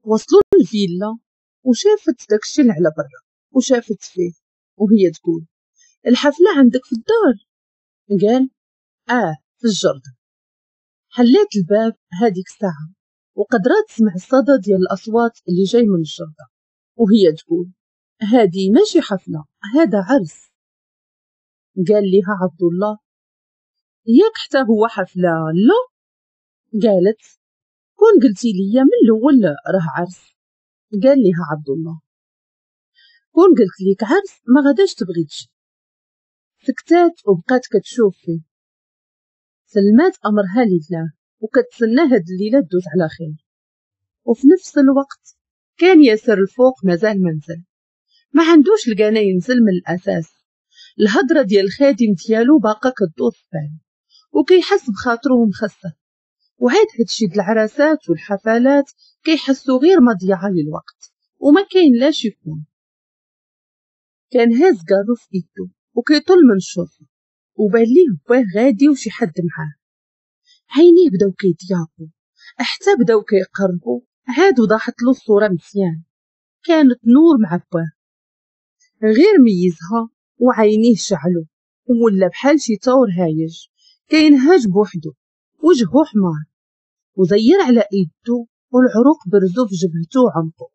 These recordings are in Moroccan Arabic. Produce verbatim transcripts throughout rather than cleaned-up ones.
وصلوا للفيلا وشافت داكشي اللي على برا وشافت فيه وهي تقول الحفلة عندك في الدار؟ قال اه في الجردة. حلات الباب هذيك الساعة وقدرات تسمع الصدى ديال الأصوات اللي جاي من الجردة وهي تقول هادي ماشي حفلة، هذا عرس. قال لها عبد الله ياك حتى هو حفلة؟ لا. قالت كون قلتي لي من الأول راه عرس. قال لها عبد الله كون قلت لك عرس ما غاداش تبغي تجي. سكتات وبقات كتشوف فيه. سلمات أمرها لله وكتسنى هاد الليلة تدوز على خير. وفي نفس الوقت كان ياسر الفوق مازال منزل، ما عندوش القنا ينزل من الأساس. الهضرة ديال الخادم ديالو باقا كدور في بالو وكيحس بخاطرو مخسر، وعاد هادشي د العراسات والحفلات كيحسو غير مضيعة للوقت وما كاين لاش يكون. كان هاز كارو في ايدو وكيطل من الشرفة وبان ليه باه غادي وشي حد معاه. عينيه بداو كيضيقوا حتى بداو كيقربوا، عاد وضحت له الصورة مزيان. كانت نور مع باه، غير ميزها وعينيه شعلو ولا بحال شي طور هايج كينهج بوحدو، وجهو حمار وزير على ايدو والعروق برزو في جبهتو وعنقو.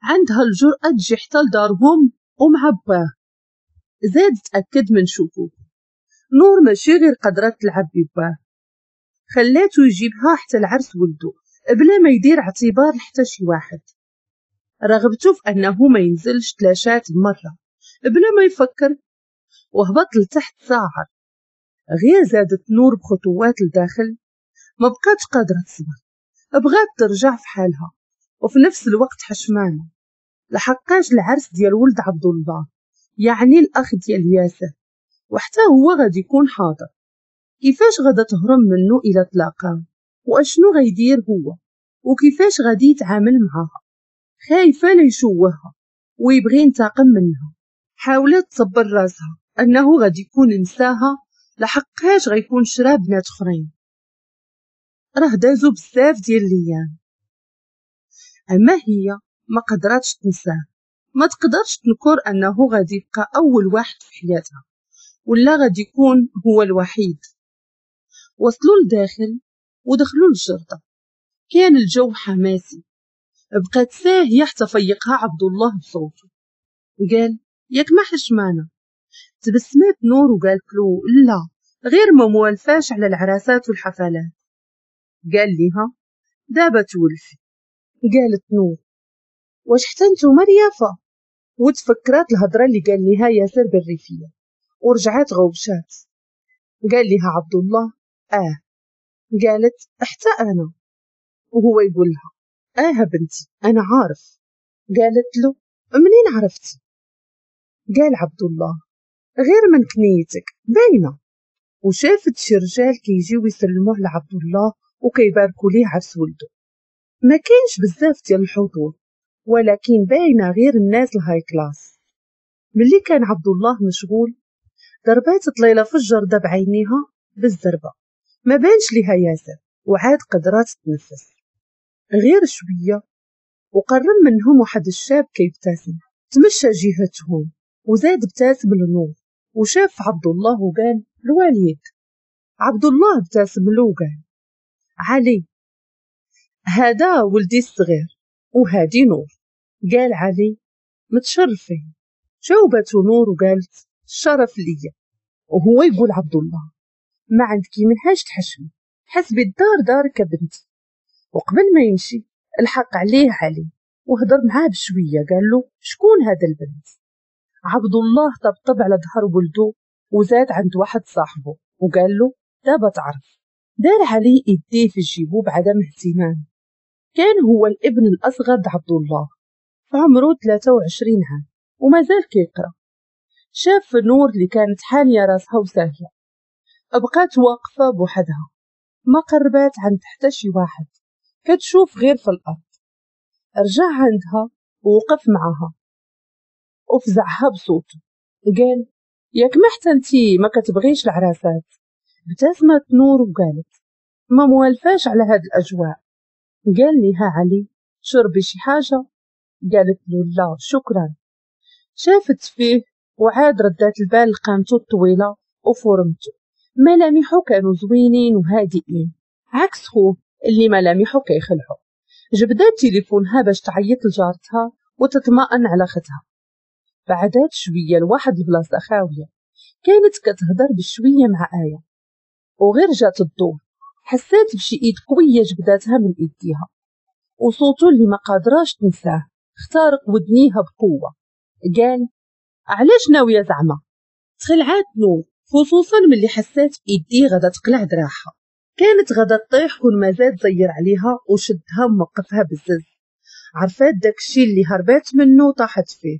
عندها الجرأة تجي حتى لدارهم ومع باه. زاد تأكد من شكوكو، نور ماشي غير قدرات تلعب بباه، خلاتو يجيبها حتى العرس ولدو بلا ما يدير اعتبار لحتى شي واحد. رغبته في انه ما ينزلش تلاشات بمرة بلا ما يفكر وهبط لتحت صاعر. غير زادت نور بخطوات لداخل ما بقاتش قادرة تصبر، بغات ترجع في حالها وفي نفس الوقت حشمانة لحقاش العرس ديال ولد عبد الله، يعني الأخ ديال ياسر، وحتى هو غادي يكون حاضر. كيفاش غادا تهرب منه إلى تلاقاه؟ واشنو غيدير هو؟ وكيفاش غادي يتعامل معاها؟ خايفة لا يشوهها ويبغي ينتقم منها. حاولت تصبر راسها أنه غادي يكون نساها لحقاش غيكون شرا بنات اخرين، راه دازو بزاف ديال الايام. اما هي ما قدراتش تنساه، ما تقدرش تنكر انه غادي يبقى اول واحد في حياتها ولا غادي يكون هو الوحيد. وصلوا لداخل ودخلوا للجردة، كان الجو حماسي. بقات ساهية حتى فيقها عبد الله بصوته، قال ياك ما حشمانة؟ تبسمات نور وقالت له لا، غير ما موالفاش على العراسات والحفلات. قال لها دابا تولفي. قالت نور واش حتى نتوما ريافه؟ وتفكرات الهضرة اللي قال لها ياسر بالريفيه ورجعات غوبشات. قال لها عبد الله اه. قالت حتى انا. وهو يقول لها اه بنتي انا عارف. قالت له منين عرفتي؟ قال عبد الله غير من كنيتك باينة. وشافت شي رجال كيجيو يسلموا على عبد الله وكيباركوا ليه عرس ولده. ما كاينش بزاف ديال الحضور ولكن باينة غير الناس ال high class. ملي كان عبد الله مشغول ضربات طليله في الجرده بعينيها بالزربه، ما بانش ليها ياسر وعاد قدرات تتنفس غير شوية. وقرب منهم واحد الشاب كيبتسم، تمشى جهتهم وزاد ابتسم لنور وشاف عبد الله وقال الوالد. عبد الله ابتسم له وقال علي هذا ولدي الصغير وهادي نور. قال علي متشرفين. جاوبته نور وقالت الشرف ليا. وهو يقول عبد الله ما عندكي منهاش تحشمي، حسبي الدار دارك بنتي. وقبل ما يمشي الحق عليه علي وهضر معاه بشوية، قال له شكون هذا البنت؟ عبد الله طبطب على ظهر ولده وزاد عند واحد صاحبه وقال له دابا تعرف. دار علي يديه في جيبو بعدم اهتمام. كان هو الابن الأصغر عبد الله، فعمره ثلاثة وعشرين عام وما زال كيقرا. شاف نور اللي كانت حانية راسها وساهية، بقات واقفة بوحدها ما قربات عند حتى شي واحد، كتشوف غير في الأرض. رجع عندها ووقف معها وفزعها بصوته، قال ياك ما حتى انتي ما كتبغيش العراسات؟ ابتسمت نور وقالت ما موالفاش على هاد الأجواء. قال لها علي شربي شي حاجة؟ قالت له لا شكرا. شافت فيه وعاد ردات البال لقامته الطويلة وفورمته، ملامحه كانوا زوينين وهادئين عكس خوه اللي ملامحه كيخلعو. جبدات تليفونها باش تعيط لجارتها وتطمئن على ختها. بعدات شوية لواحد البلاصة خاوية، كانت كتهضر بشوية مع آية، وغير جات الدور حسات بشي ايد قوية جبداتها من ايديها، وصوته اللي ما قادراش تنساه اخترق ودنيها بقوة. قال علاش ناوية زعما؟ تخلعات نور، خصوصا ملي حسات بايديه غادا تقلع دراعها. كانت غادا تطيح كون ما زاد زير عليها وشدها وموقفها بزز. عرفات داكشي اللي هربات منه طاحت فيه،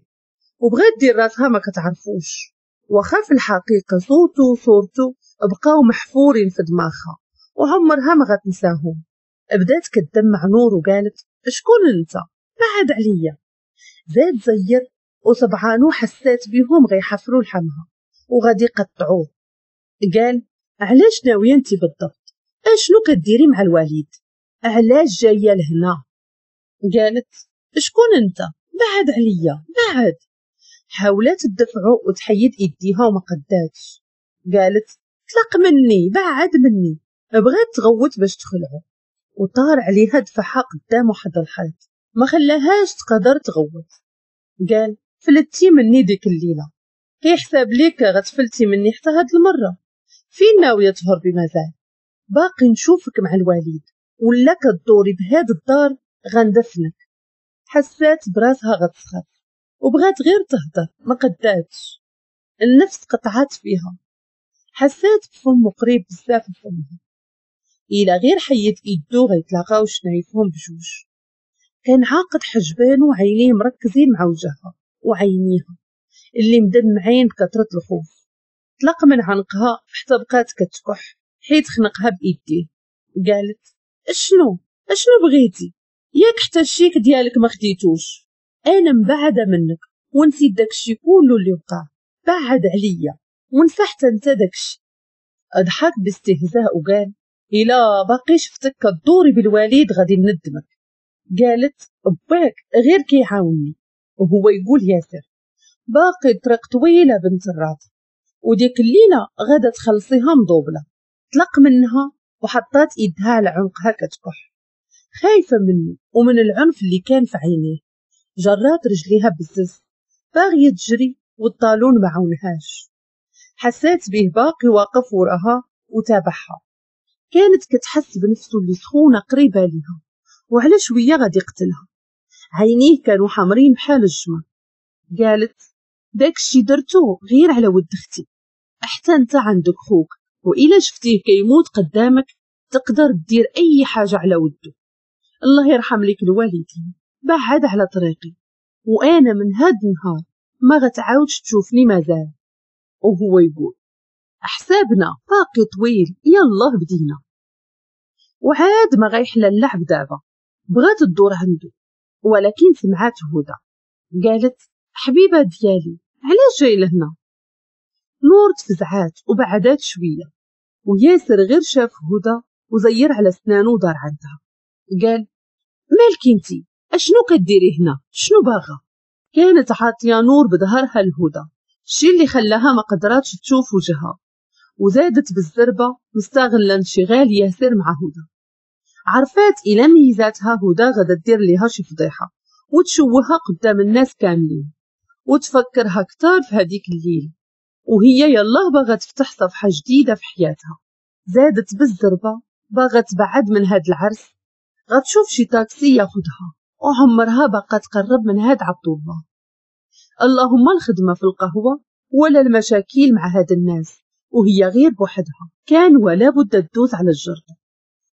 وبغات دير راسها ما كتعرفوش، واخا في الحقيقة صوته وصورته بقاو محفورين في دماغها وعمرها ما غتنساهم. بدات كتدمع نور وقالت شكون انت؟ بعد عليا. زاد زير وصبعانو حسات بيهم غيحفروا لحمها وغادي يقطعوه. قال علاش ناوية انت بالضبط؟ اشنو كديري مع الوالد؟ علاش جاية لهنا؟ قالت شكون انت؟ بعد عليا بعد. حاولت تدفعو وتحيد ايديها وما قداتش. قالت طلق مني بعد مني. بغات تغوت باش تخلعو، وطار عليها دفعها قدام واحد الحيط ما خلاهاش تقدر تغوت. قال فلتي مني ديك الليلة، كيحساب ليك غتفلتي مني حتى هاد المرة؟ فين ناوية تهربي مازال؟ باقي نشوفك مع الوالد ولا كدوري بهاد الدار غندفنك. حسات براسها غتسخط وبغات غير تهدر ما قداتش، النفس قطعات فيها. حسات بفمو قريب بزاف لفمها، إلا غير حيد ايدو غيتلاقاو شنايفهم بجوج. كان عاقد حجبانو وعينيه مركزين مع وجهها وعينيها اللي مدمعين بكثرة الخوف. طلق من عنقها حتى بقات كتكح حيت خنقها بايديه. قالت اشنو اشنو بغيتي؟ ياك حتى الشيك ديالك ما خديتوش، انا مبعده منك ونسيت داكشي كله اللي وقع، بعد عليا ونسى حتى انت داكشي. اضحك باستهزاء وقال الا باقي شفتك كدوري بالوالد غادي ندمك. قالت باك غير كيعاوني، وهو يقول ياسر باقي طريق طويلة بنت الراط، وديك الليلة غادا تخلصيها مضوبله. طلق منها وحطات ايدها على عنقها كتكح، خايفة منه ومن العنف اللي كان في عينيه. جرات رجليها بزز باغية تجري والطالون ما عاونهاش. حسات به باقي واقف وراها وتابعها. كانت كتحس بنفسه اللي سخونة قريبه ليها وعلى شوية غادي يقتلها. عينيه كانوا حمرين بحال الجمر. قالت داكشي درتو غير على ود اختي، حتى انت عندك خوك وإلا شفتيه كيموت قدامك تقدر دير اي حاجة على ودو. الله يرحم ليك الوالدين، بعد على طريقي وانا من هاد النهار ما غتعاودش تشوفني مازال. وهو يقول حسابنا باقي طويل، يلا بدينا. وعاد ما غيحلى اللعب دابا. بغات تدور عنده ولكن سمعات هدى. قالت حبيبه ديالي علاش جاي لهنا؟ نور تفزعات وبعدات شوية، وياسر غير شاف هدى وزير على سنانو ودار عندها. قال مالك انتي؟ اشنو كديري هنا؟ شنو باغا؟ كانت عاطيه نور بظهرها لهدى، الشي اللي خلاها ما قدراتش تشوف وجهها، وزادت بالزربه مستغله انشغال ياسر مع هدى. عرفات الى ميزاتها هدى غادا دير ليها شي فضيحة وتشوهها قدام الناس كاملين وتفكرها كتار في هذيك الليلة، وهي يلاه باغا تفتح صفحة جديدة في حياتها. زادت بالزربه باغا تبعد من هاد العرس، غتشوف شي تاكسي ياخدها وعمرها باقا تقرب من هاد عبد الله. اللهم الخدمة في القهوة ولا المشاكل مع هاد الناس، وهي غير بوحدها كان ولا بد تدوز على الجردة.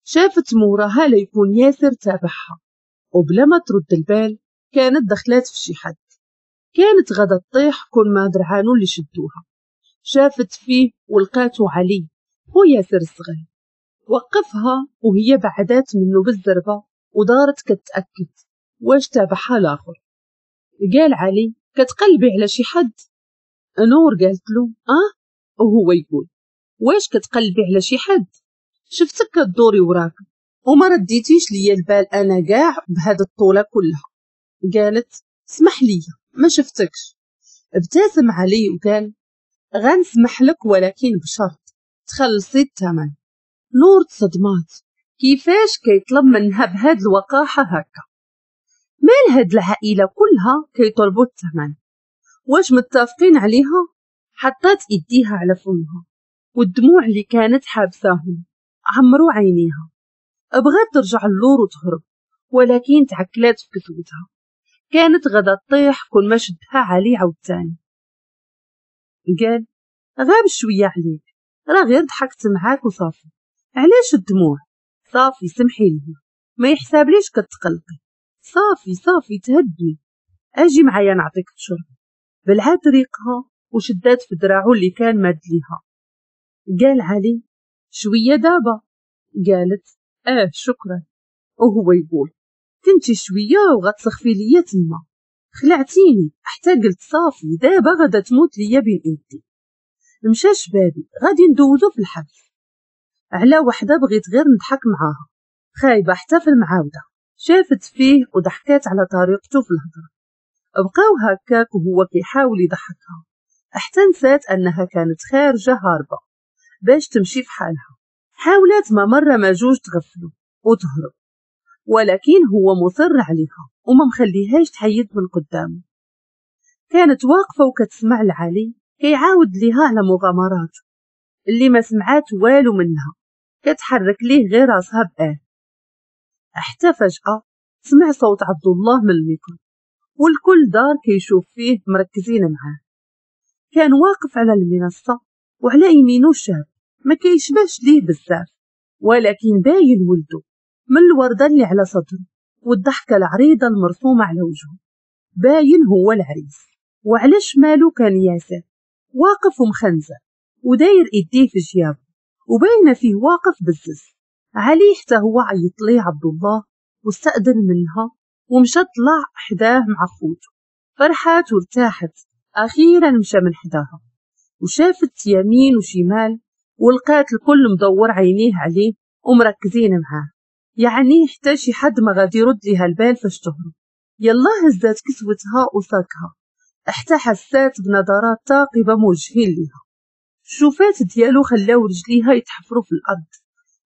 شافت موراها ليكون ياسر تابعها، وبلا ما ترد البال كانت دخلات في شي حد. كانت غدا تطيح كل ما درعانو اللي شدوها. شافت فيه ولقاتو علي هو ياسر الصغير. وقفها وهي بعدات منه بالزربة ودارت كتأكد واش تابعها الآخر. قال علي كتقلبي على شي حد؟ نور قالت له اه، وهو يقول واش كتقلبي على شي حد؟ شفتك كدوري وراك وما رديتيش ليا البال انا كاع بهاد الطولة كلها. قالت اسمح لي ما شفتكش. ابتسم علي وقال غنسمح لك ولكن بشرط تخلصي الثمن. نور تصدمات، كيفاش كيطلب منها بهاد الوقاحة هكا؟ مال هاد العائلة كلها كيطلبوا الثمن؟ واش متفقين عليها؟ حطات ايديها على فمها والدموع اللي كانت حابساهم عمرو عينيها. بغات ترجع اللور وتهرب ولكن تعكلات في كتوتها، كانت غدا تطيح كل ما شدها علي عاوتاني. قال غاب شوية عليك، راه غير ضحكت معاك وصافي، علاش الدموع؟ صافي سمحي لي، ما يحسابليش كتقلقي، صافي صافي تهدني، اجي معايا نعطيك تشرب. بلعات ريقها وشدات في دراعو اللي كان ماد ليها. قال علي شوية دابا؟ قالت اه شكرا. وهو يقول كنتي شوية وغتسخفي ليا تما، خلعتيني حتى قلت صافي دابا غادا تموت ليا بين ايدي. مشى شبابي غادي ندوزو في الحبس على وحده بغيت غير نضحك معاها، خايبة حتى في المعاوده. شافت فيه وضحكات على طريقته في الهضرة. بقاو هكاك وهو كيحاول يضحكها حتى نسات انها كانت خارجه هاربه باش تمشي في حالها. حاولت ما مرة ما جوج تغفلو وتهرب، ولكن هو مصر عليها وما مخليهاش تحيد من قدامه. كانت واقفة وكتسمع لعلي كيعاود ليها على مغامراته اللي ما سمعات والو منها، كتحرك ليه غير راسها بآه. حتى فجأة سمع صوت عبد الله من الميكرو والكل دار كيشوف فيه مركزين معاه. كان واقف على المنصة وعلى يمينه شاب ما كيشبهش ليه بزاف، ولكن باين ولده من الوردة اللي على صدره والضحكة العريضة المرسومة على وجهه، باين هو العريس. وعلى شماله كان ياسر واقف ومخنزر وداير ايديه في جيابه وباين فيه واقف بزز. علي حتى هو عيط ليه عبد الله واستأذن منها ومشى طلع حداه مع خوته. فرحات وارتاحت اخيرا مشى من حداها، وشافت يمين وشمال ولقات الكل مدور عينيه عليه ومركزين معاه، يعني حتى شي حد ما غادي يرد ليها البال فاش تهرب. يلا هزات كسوتها وساكها حتى حسات بنظرات ثاقبة موجهين ليها. الشوفات ديالو خلاو رجليها يتحفروا في الارض،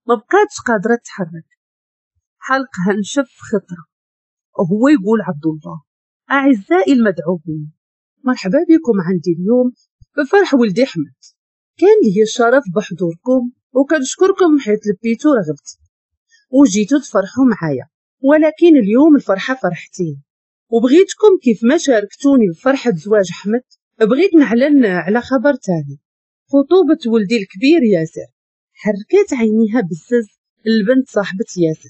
ما بقاتش قادرة تتحرك، حلقها نشف خطره. وهو يقول عبد الله اعزائي المدعوين مرحبا بكم عندي اليوم بفرح ولدي احمد، كان لي الشرف بحضوركم وكنشكركم حيت لبيتو رغبتي وجيتو تفرحوا معايا، ولكن اليوم الفرحة فرحتين، وبغيتكم كيف ما شاركتوني بفرحة زواج احمد بغيت نعلن على خبر تاني، خطوبه ولدي الكبير ياسر. حركات عينيها بزز البنت صاحبة ياسر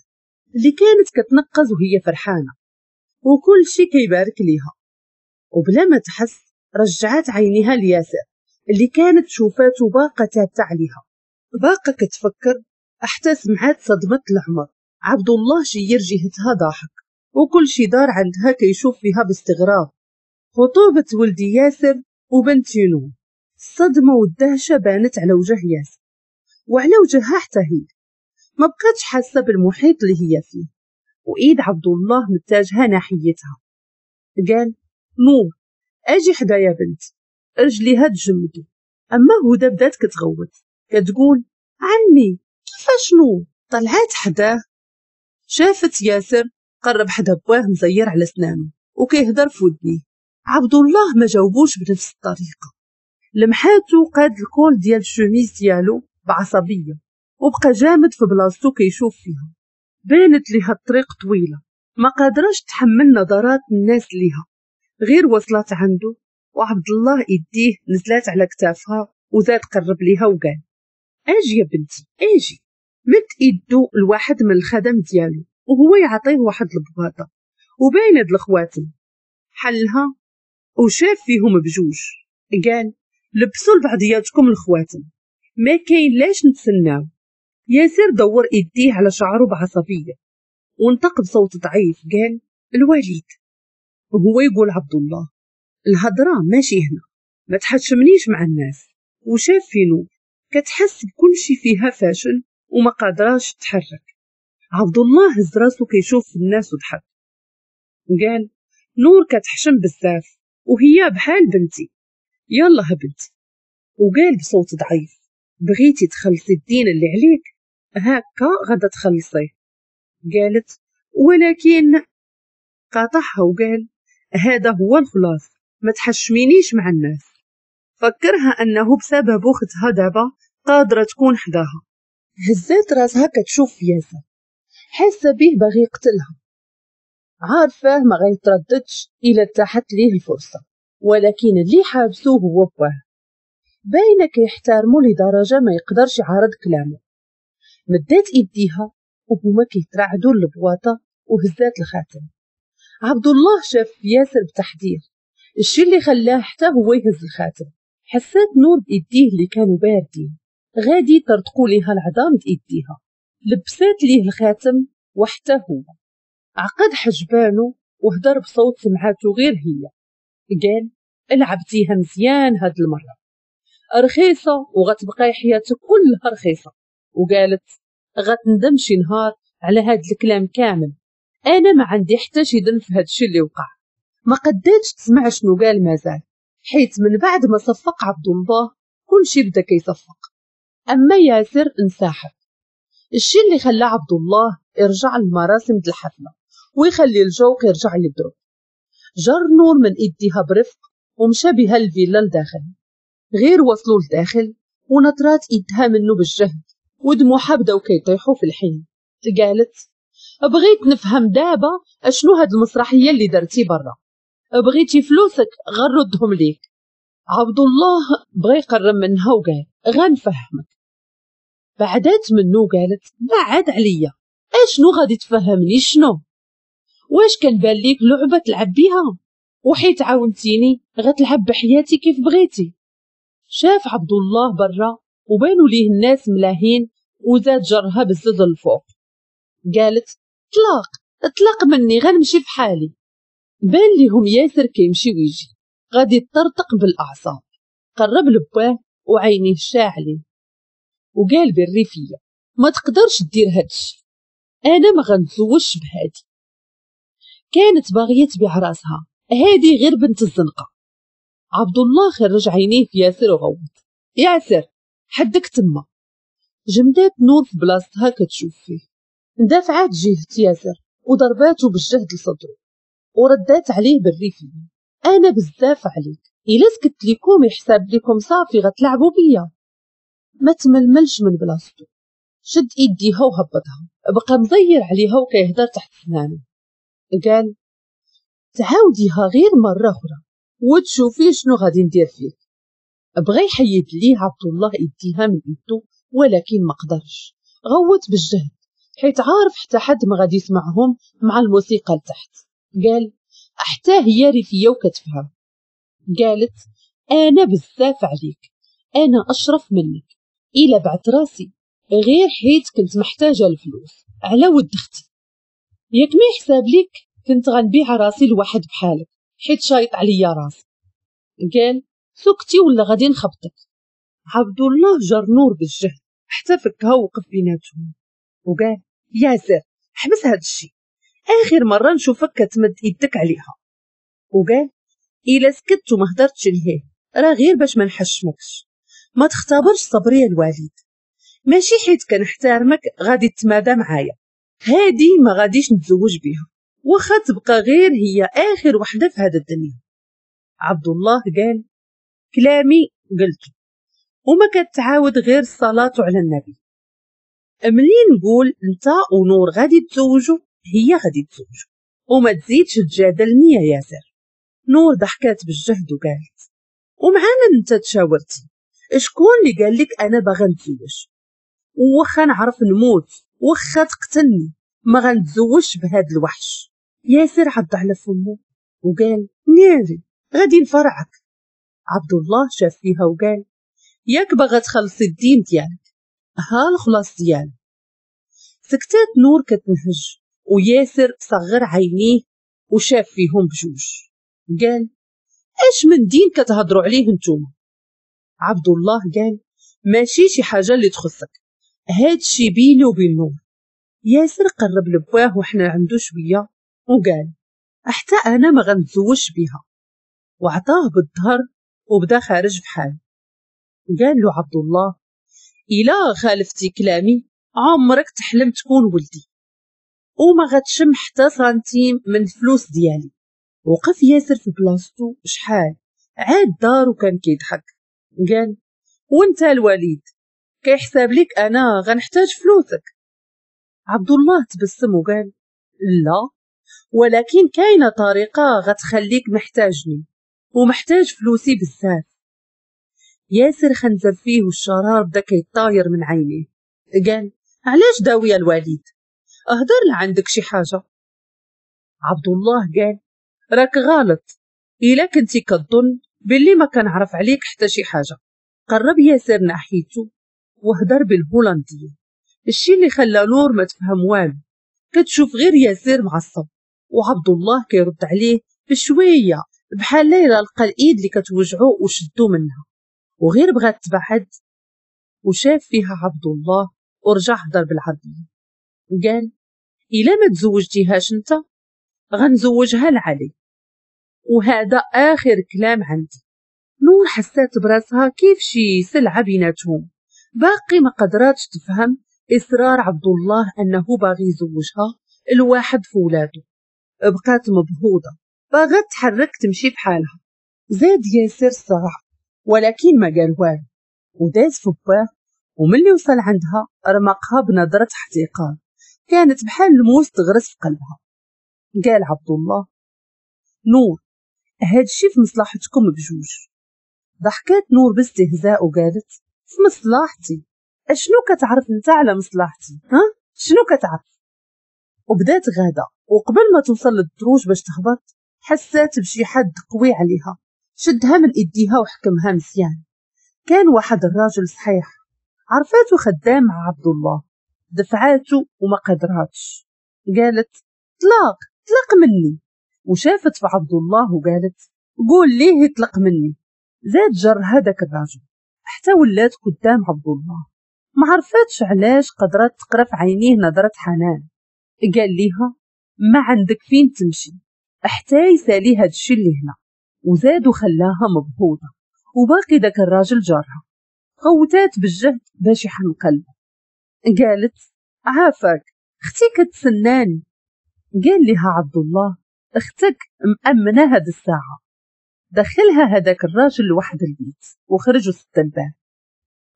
اللي كانت كتنقز وهي فرحانة وكل شي كيبارك ليها، وبلا ما تحس رجعات عينيها لياسر اللي كانت شوفاته باقه ثابتة عليها. باقه كتفكر حتى سمعات صدمة العمر. عبد الله شير جهتها ضاحك وكل شي دار عندها كيشوف فيها باستغراب. خطوبه ولدي ياسر وبنتي نور. الصدمة والدهشه بانت على وجه ياسر وعلى وجهها حتى هي، ما بقاتش حاسه بالمحيط اللي هي فيه. وايد عبد الله متجهة ناحيتها. قال نور اجي حدايا بنت. رجليها تجمدوا. اما هدى بدات كتغوت كتقول عمي كيفاش نور؟ طلعات حداه شافت ياسر قرب حدا بواه مزير على سنانه وكيهدر في ودنيه. عبد الله ما جاوبوش بنفس الطريقة، لمحاتو قاد ال col ديال الشوميز ديالو بعصبيه وبقى جامد في بلاصتو كيشوف فيها. بانت ليها الطريق طويلة ما قادراش تحمل نظرات الناس ليها. غير وصلت عنده وعبد الله ايديه نزلات على كتافها وزاد قرب ليها وقال اجي يا بنتي اجي. مد ايدو لواحد من الخدم ديالو وهو يعطيه واحد البواطه وباين هاد الخواتم. حلها وشاف فيهم بجوج قال لبسوا لبعضياتكم الخواتم، ما كاين لاش نتسناو. ياسر دور ايديه على شعره بعصبيه ونطق بصوت ضعيف قال الوليد. وهو يقول عبد الله الهضرة ماشي هنا، ما تحشمنيش مع الناس. وشاف في نور كتحس بكل شي فيها فاشل وما قادراش تتحرك. عبد الله هز راسو كيشوف في الناس وضحك، قال نور كتحشم بزاف وهي بحال بنتي، يلا بنتي. وقال بصوت ضعيف بغيتي تخلصي الدين اللي عليك هكا غادا تخلصيه. قالت ولكن، قاطعها وقال هذا هو الخلاص، ما تحشمينيش مع الناس. فكرها انه بسبب اختها دابا قادرة تكون حداها. هزات راسها كتشوف في ياسر، حاسه به باغي يقتلها، عارفاه ما غيترددش الا تاحت ليه الفرصة، ولكن اللي حابسوه هو باه، باينة كيحترمو لدرجة ما يقدرش يعارض كلامه. مدات ايديها وهما كيترعدوا للبواطه وهزات الخاتم. عبد الله شاف في ياسر بتحذير، الشي اللي خلاه حتى هو يهز الخاتم. حسات نور بايديه اللي كانوا باردين غادي ترتقوا ليها العظام بايديها. لبسات ليه الخاتم وحتى هو عقد حجبانه وهدر بصوت سمعته غير هي، قال لعبتيها مزيان هاد المرة، رخيصة وغتبقاي حياتك كلها رخيصة. وقالت غتندم شي نهار على هاد الكلام كامل، انا ما عندي حتى شي ذنب في هاد الشي اللي وقع. ما قداتش تسمع شنو قال مازال، حيت من بعد ما صفق عبد الله كل شي بدا كيصفق. اما ياسر انسحب، الشي اللي خلى عبد الله يرجع للمراسم د الحفلة ويخلي الجوق يرجع يضرب. جر نور من ايديها برفق ومشى بها الفيلا لداخل. غير وصلوا لداخل ونطرات ايدها منه بالجهد ودموعها بداو كيطيحوا في الحين. قالت بغيت نفهم دابا اشنو هاد المسرحية اللي درتي برا، بغيتي فلوسك غنردهم ليك. عبد الله بغى يقرب منها وقال غنفهمك. بعدات منه وقالت بعد عليا، اشنو غادي تفهمني؟ شنو؟ واش كنبان ليك لعبه تلعب بيها؟ وحيت عاونتيني غتلعب بحياتي كيف بغيتي. شاف عبد الله برا وبانوا ليه الناس ملاهين وزاد جرها بالزد الفوق. قالت طلاق اطلق مني غنمشي في حالي. بان ليهم ياسر كيمشي ويجي غادي يطرطق بالاعصاب. قرب لباه وعينيه شاعلين وقال بالريفيه ما تقدرش دير هادشي، انا ما غنتزوجش بهادي. كانت باغية تبيع راسها، هادي غير بنت الزنقة. عبد الله خرج عينيه في ياسر وغوت ياسر حدك تما. جمدات نور في بلاصتها كتشوف فيه، اندفعات جهة ياسر وضرباته بالجهد لصدره وردات عليه بالريفيه انا بزاف عليك، الا سكت لكم يحسب لكم صافي غتلعبوا بيا. ما تململش من بلاصتو، شد ايديها وهبطها، بقى مزير عليها وكيهدر تحت سنانه. قال تعاوديها غير مرة اخرى وتشوفي شنو غادي ندير فيك. بغى يحيد ليه عبد الله ايديها من ايدو ولكن ما قدرش، غوت بالجهد حيت عارف حتى حد ما غادي يسمعهم مع الموسيقى لتحت. قال حتى هي ريفيه وكتفهم. قالت انا بزاف عليك، انا اشرف منك، الا بعت راسي غير حيت كنت محتاجه الفلوس على ود اختي، ياك ما يحساب ليك كنت غنبيع راسي لواحد بحالك حيت شايط عليا راسي. قال سكتي ولا غادي نخبطك. عبد الله جر نور بالجهد حتى فكها ووقف بيناتهم وقال ياسر حبس هاد الشيء، اخر مرة نشوفك كتمد يدك عليها. وقال الا سكت وما هدرتش لهيه راه غير باش ما نحشمكش، ما تختبرش صبري الوالد، ماشي حيت كنحترمك غادي تمادى معايا، هادي ما غاديش نتزوج بيها واخا تبقى غير هي اخر وحده في هذا الدنيا. عبد الله قال كلامي قلته وما كتعاود غير الصلاة على النبي، ملي نقول انت ونور غادي تزوجوا هي غادي تزوجوا وما تزيدش تجادلني يا ياسر. نور ضحكات بالجهد وقالت ومعانا انت تشاورتي، شكون اللي قال لك انا باغا نتزوج؟ وخا نعرف نموت وخا تقتلني ما غنتزوجش بهاد الوحش. ياسر عض على فمه وقال ناري غادي نفرعك. عبد الله شاف فيها وقال ياك باغا تخلصي الدين ديالك، ها الخلاص ديالك. سكتات نور كتنهج وياسر صغر عينيه وشاف فيهم بجوج قال اش من دين كتهضروا عليه نتوما؟ عبد الله قال ماشي شي حاجة اللي تخصك، هادشي بيني وبين نور، ياسر قرب لبواه وحنا عنده شوية وقال حتى انا ما غنتزوجش بها، وعطاه بالظهر وبدا خارج بحال. قال له عبد الله إلا خالفتي كلامي عمرك تحلم تكون ولدي، وما غتشم حتى سنتيم من الفلوس ديالي. وقف ياسر في بلاصتو شحال عاد دار وكان كيضحك. قال وانت الوليد كيحساب لك انا غنحتاج فلوسك؟ عبد الله تبسم وقال لا، ولكن كاينه طريقه غتخليك محتاجني ومحتاج فلوسي بزاف. ياسر خنزر فيه والشرار بدا كيطاير من عينيه. قال علاش داوي الوليد؟ اهدر لعندك شي حاجة. عبد الله قال راك غلط الا كنتي كظن باللي ما كنعرف عليك حتى شي حاجة. قرب ياسر ناحيته وهدر بالهولندية، الشي اللي خلى نور ما تفهم والو، كتشوف غير ياسر معصب وعبد الله كيرد عليه بشوية بحال ليلى لقى الايد اللي كتوجعو وشدو منها، وغير بغات تبعد وشاف فيها عبد الله ورجع هدر بالعربية. قال الا ما تزوجتيهاش انت غنزوجها لعلي، وهذا اخر كلام عندي. نور حسات براسها كيف شي سلعه بيناتهم، باقي ما قدراتش تفهم اصرار عبد الله انه باغي يزوجها الواحد في ولادو. بقات مبهوضه باغا تحرك تمشي بحالها. زاد ياسر الصراع ولكن ما قال والو وداز في باه، وملي وصل عندها رمقها بنظره احتقار كانت بحال الموس تغرس في قلبها. قال عبد الله نور هادشي في مصلحتكم بجوج. ضحكات نور باستهزاء وقالت في مصلحتي؟ اشنو كتعرف انت على مصلحتي؟ ها شنو كتعرف؟ وبدات غاده، وقبل ما توصل للدروج باش تهبط حسات بشي حد قوي عليها، شدها من ايديها وحكمها مزيان. كان واحد الراجل صحيح، عرفاته خدام مع عبد الله، دفعاته وما قدراتش. قالت طلاق طلق مني، وشافت في عبد الله وقالت قول ليه يطلق مني. زاد جر هذاك الراجل حتى ولات قدام عبد الله، ما عرفتش علاش قدرت تقرا في عينيه نظرة حنان. قال ليها ما عندك فين تمشي حتى يسالي هاد الشي اللي هنا، وزاد وخلاها مبهوضة، وباقي داك الراجل جارها. غوتات بالجهد باش يحن قلبه. قالت عافاك اختي كتسناني. قال لها عبد الله اختك مأمنة هاد الساعة. دخلها هداك الراجل لواحد البيت وخرج وسد الباب.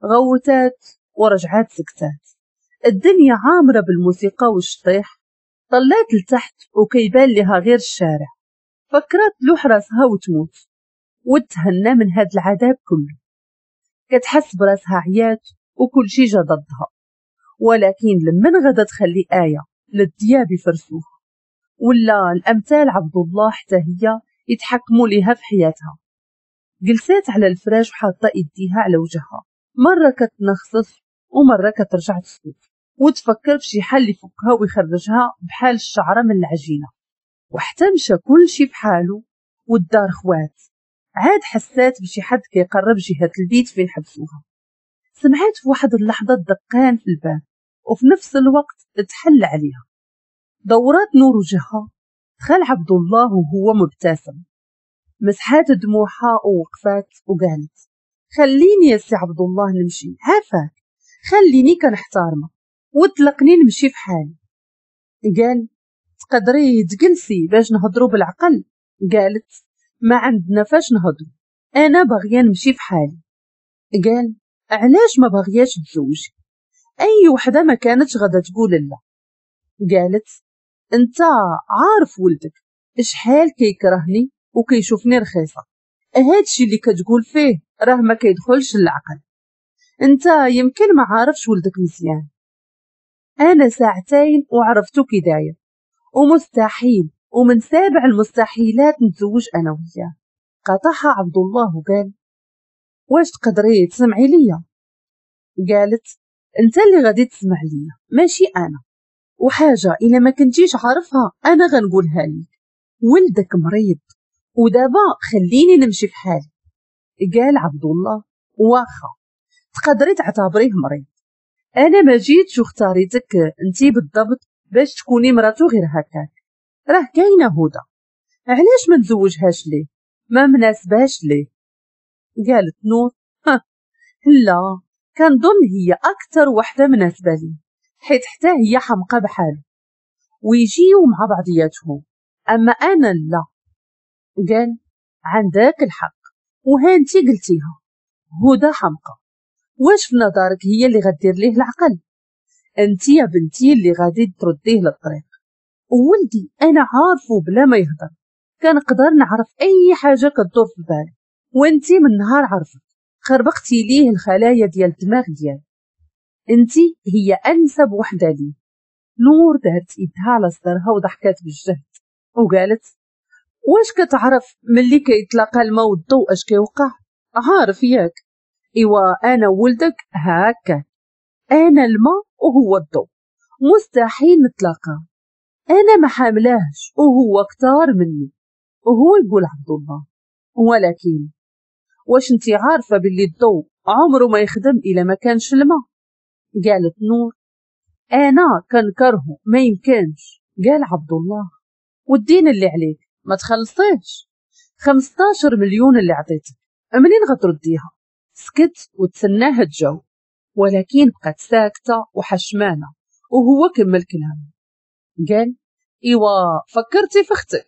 غوتات ورجعات سكتات. الدنيا عامرة بالموسيقى والشطيح. طلات لتحت وكيبان لها غير الشارع. فكرت لوح راسها وتموت وتهنى من هاد العذاب كله. كتحس براسها عيات وكل شي جا ضدها، ولكن لمن غدا تخلي آية للدياب يفرسوها ولا الأمثال عبد الله حتى هي يتحكموا ليها في حياتها. جلسات على الفراش وحاطه ايديها على وجهها، مرة كتنخصص ومرة كترجع تسكت وتفكر في شي حل يفكها ويخرجها بحال الشعرة من العجينة. وحتى مشى كل شي بحاله والدار خوات. عاد حسات بشي حد كيقرب جهة البيت فين حبسوها. سمعت في واحد اللحظة الدقان في الباب وفي نفس الوقت تحل عليها. دورات نور وجهها، دخل عبد الله وهو مبتسم. مسحات دموعها ووقفات وقالت خليني يا سي عبد الله نمشي، عافاك خليني كنحتارمك وطلقني نمشي في حالي. قال تقدري تجلسي باش نهضروا بالعقل؟ قالت ما عندنا فاش نهضروا، انا باغية نمشي في حالي. قال علاش ما باغياش تزوجي؟ اي وحده ما كانتش غادا تقول لا. قالت انت عارف ولدك شحال كيكرهني وكيشوفني رخيصة، هادشي اللي كتقول فيه راه ما كيدخلش للعقل، انت يمكن ما عارفش ولدك مزيان. انا ساعتين وعرفتو كي داير، ومستحيل ومن سابع المستحيلات نتزوج انا وياه. قاطعها عبد الله وقال واش تقدري تسمعي ليا؟ قالت انت اللي غادي تسمع ليا ماشي انا، وحاجه الا ما كنتيش عارفها انا غنقولها لك، ولدك مريض ودابا خليني نمشي في حالي. قال عبد الله واخا تقدري تعتبريه مريض، انا ما جيتش واختاريتك انتي بالضبط باش تكوني مراتو غير هكاك، راه كاينه هدى، علاش ما نتزوجهاش ليه؟ ما مناسبهاش ليه؟ قالت نور ها لا، كنظن هي اكثر وحده مناسبة لي، حيت حتى هي حمقى بحالو ويجيو مع بعضياتهم، اما انا لا. قال عندك الحق، وهانتي قلتيها، هدى حمقى، واش في نظرك هي اللي غدير ليه العقل؟ انت يا بنتي اللي غادي ترديه للطريق. وولدي انا عارفه بلا ما يهضر، كنقدر نعرف اي حاجة كدور في بالي، وانتي من نهار عرفت خربقتي ليه الخلايا ديال الدماغ ديالو، انتي هي انسب وحده ليه. نور دارت ايدها على صدرها وضحكات بالجهد وقالت واش كتعرف ملي كيتلاقى الماء والضوء اش كيوقع؟ عارف ياك؟ ايوا انا وولدك هكا، انا الماء وهو الضوء، مستحيل نتلاقى، انا ما حاملاهش وهو كتار مني. وهو يقول عبد الله ولكن واش انتي عارفه باللي الضوء عمره ما يخدم الا ما كانش الماء؟ قالت نور انا كنكرهه ما يمكنش. قال عبد الله والدين اللي عليك ما تخلصيش، خمستاشر مليون اللي عطيتك منين غترديها؟ سكت وتسناها تجاوب، ولكن بقات ساكته وحشمانه. وهو كمل كلامه قال ايوا فكرتي في اختك؟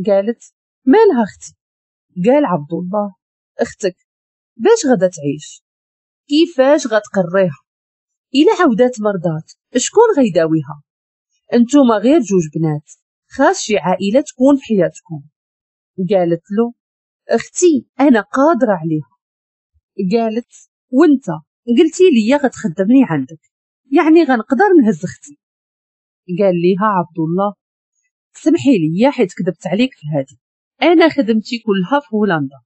قالت مالها اختي؟ قال عبد الله اختك باش غادا تعيش؟ كيفاش غتقريها؟ الا عاودات مرضات شكون غيداويها؟ انتوما غير جوج بنات، خاص شي عائلة تكون في حياتكم. قالت له اختي انا قادرة عليها. قالت وانت قلتي لي غتخدمني عندك، يعني غنقدر نهز اختي. قال ليها عبد الله سمحي لي حيت كذبت عليك في هذه، انا خدمتي كلها في هولندا،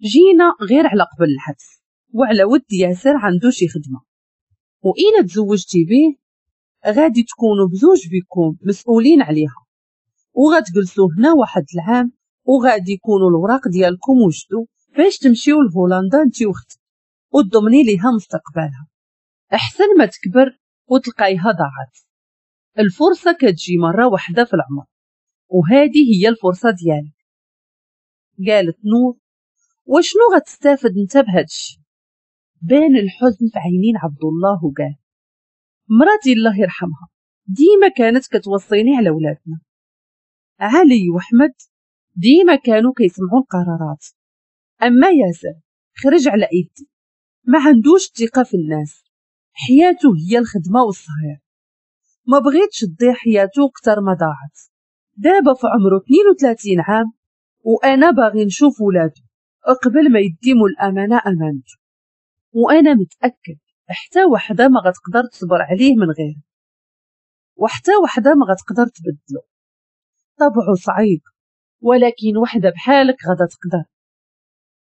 جينا غير على قبل الحبس وعلى ود ياسر عنده شي خدمة، وإلا تزوجتي به غادي تكونوا بزوج بكم مسؤولين عليها، وغتجلسوا هنا واحد العام وغادي يكونوا الوراق ديالكم وجدوا باش تمشيو لهولندا انتي واختك وتضمني ليها مستقبلها، احسن ما تكبر وتلقايها ضاعت. الفرصة كتجي مرة واحدة في العمر، وهذه هي الفرصة ديالك. قالت نور وشنو غتستافد انت بهادشي؟ بان الحزن في عينين عبد الله وقال مراتي الله يرحمها ديما كانت كتوصيني على ولادنا، علي وحمد ديما كانوا كيسمعوا القرارات، اما ياسر خرج على ايدي، ما عندوش ثقة في الناس، حياته هي الخدمة والصهير، ما بغيتش تضيع حياته اكثر ما ضاعت. دابا في عمره اثنين وثلاثين عام وانا باغي نشوف ولادو قبل ما يديموا الامانة امانته، وانا متاكد حتى وحده ما غتقدر تصبر عليه من غيره، وحتى وحده ما غتقدر تبدلو، طبعه صعيب ولكن وحده بحالك غادا تقدر.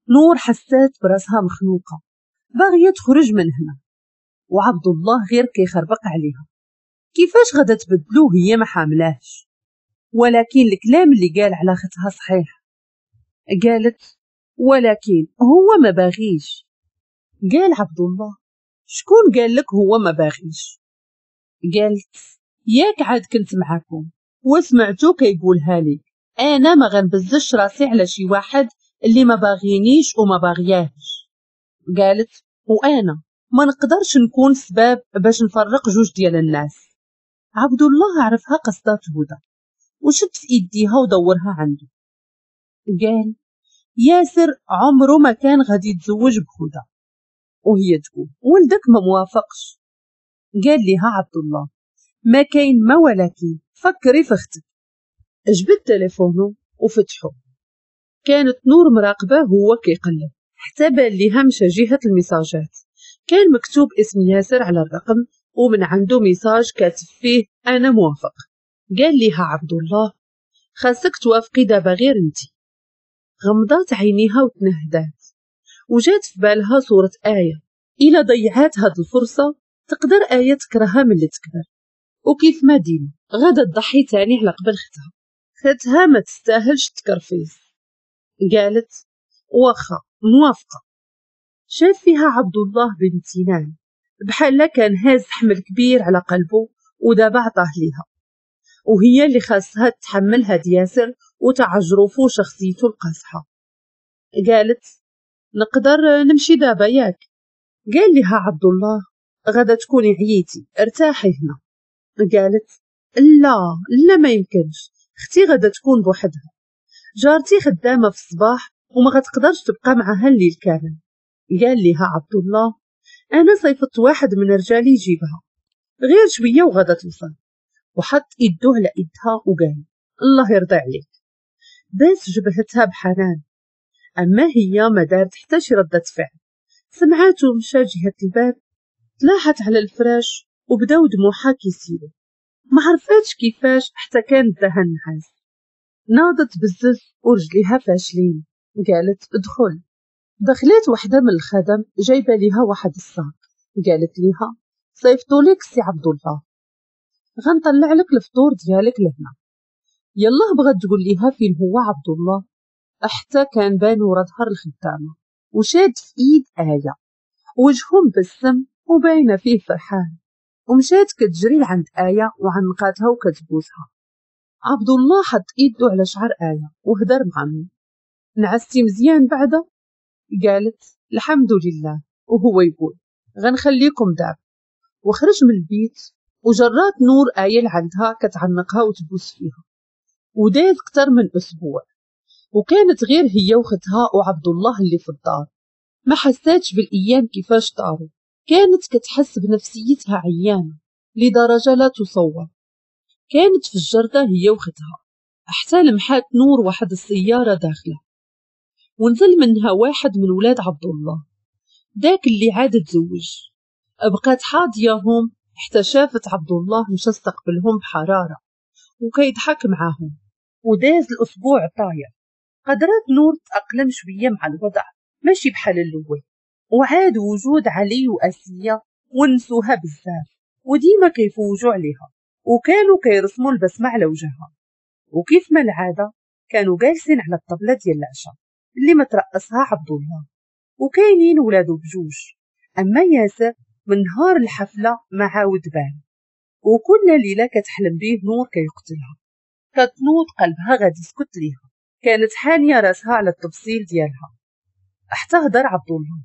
نور حسات براسها مخنوقه باغية تخرج من هنا، وعبد الله غير كيخربق عليها كيفاش غادا تبدلو هي ما حاملاهش. ولكن الكلام اللي قال على ختها صحيح. قالت ولكن هو ما باغيش. قال عبد الله شكون قال لك هو ما باغيش؟ قالت ياك عاد كنت معاكم وسمعتو كيقولها لي، انا ما غنبزش راسي على شي واحد اللي ما باغينيش وما باغياهش. قالت وانا ما نقدرش نكون سباب باش نفرق جوج ديال الناس. عبد الله عرفها قصدات هدى وشد في ايديها ودورها عنده. قال ياسر عمره ما كان غادي يتزوج بهدى، وهي تقول ولدك ما موافقش. قال لها عبد الله ما كاين ما ولكن فكري في اختك. جبد تليفونه وفتحه، كانت نور مراقبة هو كيقلب حتى بان ليها مشى جهة الميساجات، كان مكتوب اسم ياسر على الرقم ومن عنده message كاتب فيه انا موافق. قال ليها عبد الله خاصك توافقي دابا غير انتي. غمضات عينيها وتنهدات وجات في بالها صورة آية، إلا ضيعات هاد الفرصة تقدر آية تكرهها من اللي تكبر، وكيف ما ديما غادا تضحي تاني على قبل ختها، ختها ما تستاهلش تكرفيس. قالت واخا موافقة. شاف فيها عبد الله بامتنان بحال كان هاز حمل كبير على قلبه ودابا عطاه ليها، وهي اللي خاصها تحمل هاد ياسر وتعجرفو شخصيته القاصحة. قالت نقدر نمشي دابا ياك؟ قال لها عبد الله غدا تكوني عييتي ارتاحي هنا. قالت لا لا ما يمكنش، اختي غدا تكون بوحدها، جارتي خدامة في الصباح وما غتقدرش تبقى معها الليل كامل. قال لها عبد الله انا صيفطت واحد من رجالي يجيبها غير شوية وغدا توصل. وحط يدو على يدها وقال الله يرضي عليك، باس جبهتها بحنان. اما هي ما دارت حتى شي ردة فعل، سمعاتو مشى جهة الباب، تلاحت على الفراش وبداو دموعها كيسيلو، ما عرفاتش كيفاش حتى كان داها النعاس. ناضت بزز ورجليها فاشلين، قالت ادخل. دخلت وحده من الخدم جايبه ليها واحد الصاك، قالت ليها صيفطوا لك سي عبد الله، غنطلع لك الفطور ديالك لهنا. يلا بغات تقول ليها فين هو عبد الله، حتى كان بان ورا ظهر الخدامة وشاد في ايد آية، وجهه مبسم وباينه فيه فرحان. ومشات كتجري لعند آية وعنقاتها وكتبوسها. عبد الله حط ايده على شعر آية وهدر معاه، نعستي مزيان بعدا؟ قالت الحمد لله. وهو يقول غنخليكم دابا، وخرج من البيت. وجرات نور آية لعندها كتعنقها وتبوس فيها. وداز اكثر من اسبوع، وكانت غير هي وختها وعبد الله اللي في الدار. ما حساتش بالايام كيفاش طاروا، كانت كتحس بنفسيتها عيانه لدرجة لا تصور. كانت في الجرده هي وختها حتى لمحات نور واحد السيارة داخله، ونزل منها واحد من ولاد عبد الله داك اللي عاد تزوج. بقات حاضياهم حتى شافت عبد الله مشى استقبلهم بحرارة وكيضحك معاهم. وداز الاسبوع طاير، قدرت نور تأقلم شوية مع الوضع ماشي بحال الاول. وعاد وجود علي واسيه ونسوها بزاف، وديما كيفوجوا عليها وكانوا كيرسموا البسمة على وجهها. وكيف ما العادة كانوا جالسين على الطبلة ديال العشاء اللي مترأسها عبد الله، وكاينين ولادو بجوج. اما ياسر من نهار الحفلة ما عاود بان، وكل ليلة كتحلم بيه نور كيقتلها، كتنوض قلبها غادي يسكت ليها. كانت حانيه راسها على التفصيل ديالها حتى هدر عبد الله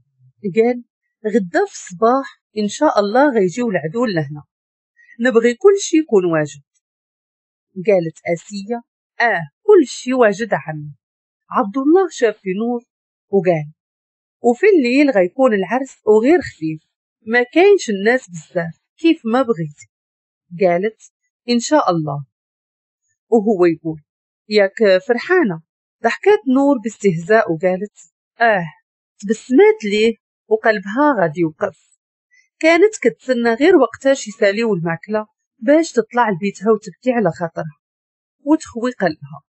قال غدا في الصباح ان شاء الله غيجيو العدول لهنا، نبغي كل شي يكون واجد. قالت اسيه اه كل شي واجد عمي. عبد الله شاف في نور وقال وفي الليل غيكون العرس وغير خفيف، ما كاينش الناس بزاف كيف ما بغيتي. قالت ان شاء الله. وهو يقول ياك فرحانة؟ ضحكات نور باستهزاء وقالت اه. تبسمات ليه وقلبها غادي يوقف. كانت كتسنى غير وقتاش يساليو الماكلة باش تطلع لبيتها وتبكي على خاطرها وتخوي قلبها.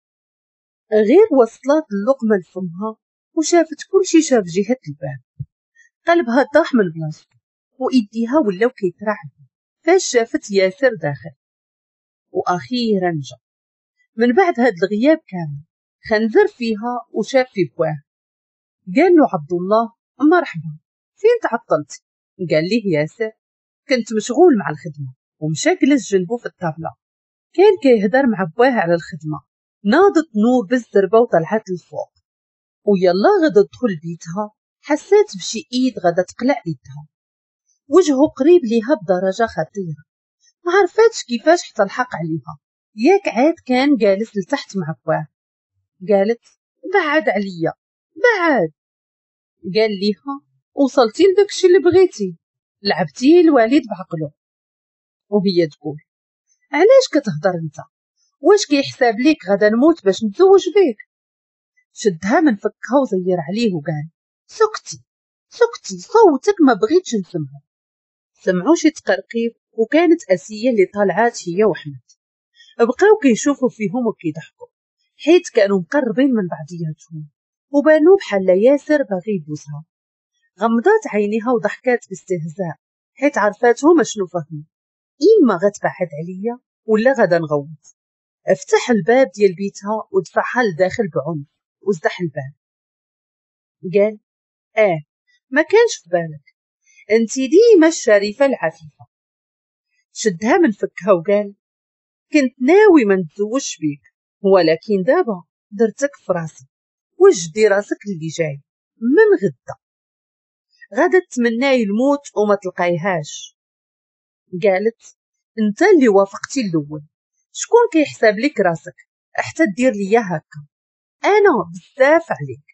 غير وصلت اللقمة لفمها وشافت كل شي شاف جهة الباب، قلبها طاح من بلاصتو وايديها ولاو كيترعبوا فاش شافت ياسر داخل. واخيرا جا من بعد هاد الغياب كامل. خنزر فيها وشاف في بواه. قال له عبد الله مرحبا، فين تعطلت؟ قال ليه ياسر كنت مشغول مع الخدمة. ومشى جلس جنبه في الطابله، كان كيهدر مع بواه على الخدمة. ناضت نور بالزربه وطلعت للفوق، ويلا غدا تدخل بيتها حسات بشي ايد غدا تقلع ايدها. وجهه قريب ليها بدرجة خطيرة، ما عرفاتش كيفاش حتى الحق عليها. ياك عاد كان جالس لتحت مع بواه. قالت بعد عليا بعد. قال ليها وصلتي لداكشي اللي بغيتي، لعبتي الوالد بعقله. وهي تقول علاش كتهضر انت؟ واش كيحساب ليك غدا نموت باش نتزوج بيك؟ شدها من فكها وزير عليه وقال سكتي سكتي، صوتك ما بغيتش نسمعه. سمعوا شي تقرقيب، وكانت اسيه اللي طالعات هي وحمد. بقاو كيشوفوا فيهم وكيضحكوا حيت كانوا مقربين من بعضياتهم، وبانوا بحال ياسر باغي يبوسها. غمضات عينيها وضحكات باستهزاء حيت عرفاتهم اشنو فهموا، اما غتبعد عليا ولا غدا نغوت. افتح الباب ديال بيتها ودفعها لداخل بعنف وزدح الباب. قال اه ما كانش في بالك، انت ديما الشريفة العفيفة. شدها من فكها وقال كنت ناوي ما نتزوجش بيك، ولكن دابا درتك في راسي، وجدي راسك اللي جاي من غدا، غادا تمناي الموت وما تلقايهاش. قالت انت اللي وافقتي الاول، شكون كيحسب لك راسك حتى دير ليا هكا؟ انا بزاف عليك،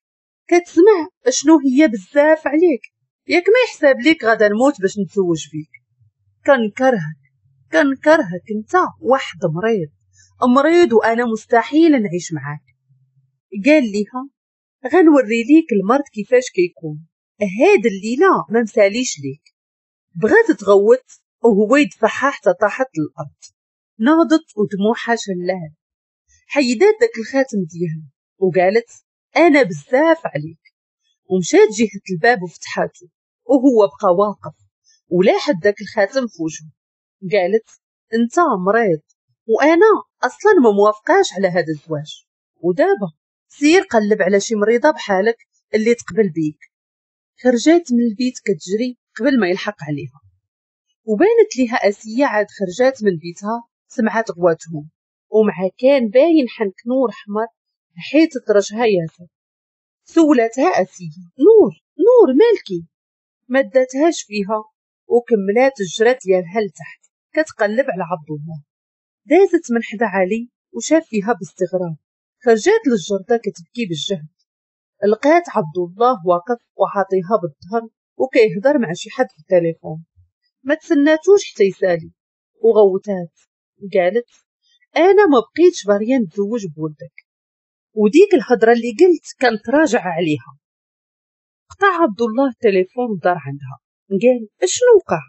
كتسمع شنو هي بزاف عليك؟ ياك ما يحسب لك غادا نموت باش نتزوج بيك. كنكرهك كنكرهك، انت واحد مريض مريض وانا مستحيل نعيش معاك. قال ليها غنوري ليك المرض كيفاش كيكون، هاد الليلة ما مساليش ليك. بغات تغوت وهو يدفعها حتى طاحت للارض، ناضت ودموعها شلال، حيدات داك الخاتم ديالها وقالت انا بزاف عليك، ومشات جهة الباب وفتحاته وهو بقى واقف ولاحت داك الخاتم في وجهه. قالت انت مريض وانا اصلا ما موافقاش على هذا الزواج، ودابا سير قلب على شي مريضه بحالك اللي تقبل بيك. خرجات من البيت كتجري قبل ما يلحق عليها، وبانت ليها اسيه عاد خرجات من بيتها، سمعت غواتهم ومع كان باين حنك نور احمر حيت طرشها ياسر. سولتها اسيه نور نور مالكي؟ ما داتهاش فيها وكملات الجرات ديالها لتحت كتقلب على عبد الله. دازت من حدا علي وشاف فيها باستغراب، خرجات للجردة كتبكي بالجهد، لقات عبد الله واقف وعاطيها بالظهر وكيهضر مع شي حد في التليفون. ما تسناتوش حتى يسالي وغوتات، قالت انا ما بقيتش باغية نتزوج بولدك، وديك الهضرة اللي قلت كانت راجعه عليها. قطع عبد الله التليفون ودار عندها، قال اشنو وقع؟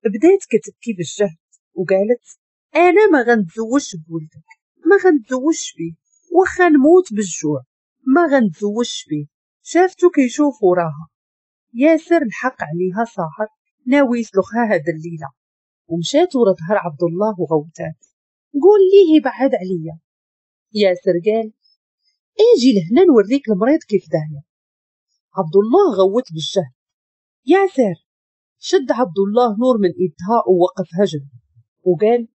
بدات كتبكي بالجهد وقالت انا ما غنتزوجش بولدك، ما غنتزوجش بيه، واخا نموت بالجوع ما غنتزوجش بيه. شافتو كيشوف وراها، ياسر الحق عليها صاحر ناوي يسلخها هاد الليلة، ومشات ورا ظهر عبد الله وغوتات قول ليه يبعد عليا. ياسر قال اجي لهنا نوريك المريض كيف داير. عبد الله غوت بالجهد ياسر. شد عبد الله نور من ايدها ووقفها جنبه وقال